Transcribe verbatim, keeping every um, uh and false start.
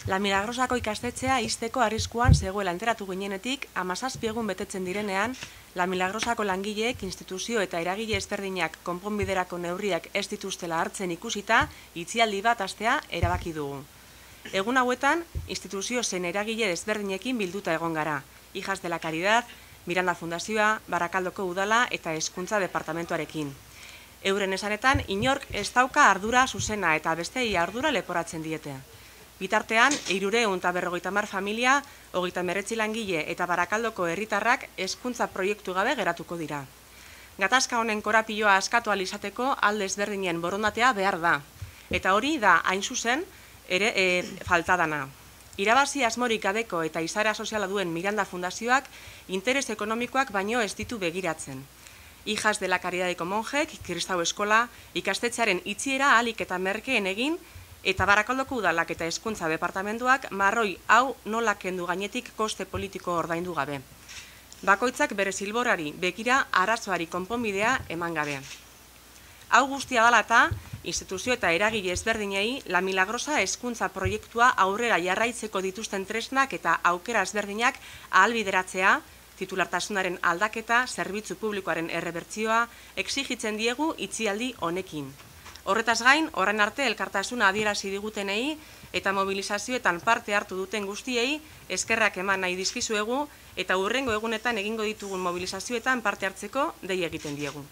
La Milagrosako ikastetxea ixteko arriskuan zegoela enteratu ginenetik, hamazazpi egun betetzen direnean, La Milagrosako langileek instituzio eta eragile ezberdinak konponbiderako neurriak ez dituztela hartzen ikusita, itxialdi bat hastea erabaki dugu. Egun hauetan, instituzio zen eragile ezberdinekin bilduta egon gara, Hijas de la Caridad, Miranda Fundazioa, Barakaldoko Udala eta Hezkuntza Departamentuarekin. Euren esanetan, inork ez dauka ardura zuzena eta bestei ardura leporatzen diete. Bitartean, hirureun eta berrogeita hamar familia, hogeita hemeretzi langile eta Barakaldoko herritarrak hezkuntza proiektu gabe geratuko dira. Gatazka honen korapioa askatu ahal izateko alde ezberdinen borondatea behar da. Eta hori da, hain zuzen, ere e, falta dana. Irabazi asmorik gabeko eta izaera soziala duen Miranda Fundazioak interes ekonomikoak baino ez ditu begiratzen. Hijas de la Caridadeko monjek, kristau eskola, ikastetxearen itxiera ahalik eta merkeen egin, eta Barakaldoko Udalak eta Hezkuntza Departamentuak marroi hau nola kendu gainetik koste politiko ordaindu gabe. Bakoitzak bere zilborari begira arazoari konponbidea eman gabe. Hau guztia dela eta, instituzio eta eragile ezberdinei La Milagrosa hezkuntza proiektua aurrera jarraitzeko dituzten tresnak eta aukera ezberdinak ahalbideratzea, titulartasunaren aldaketa, zerbitzu publikoaren errebertzioa, exigitzen diegu itxialdi honekin. Horretaz gain, orain arte elkartasuna adierazi digutenei eta mobilizazioetan parte hartu duten guztiei eskerrak eman nahi dizkizuegu eta hurrengo egunetan egingo ditugun mobilizazioetan parte hartzeko dei egiten diegu.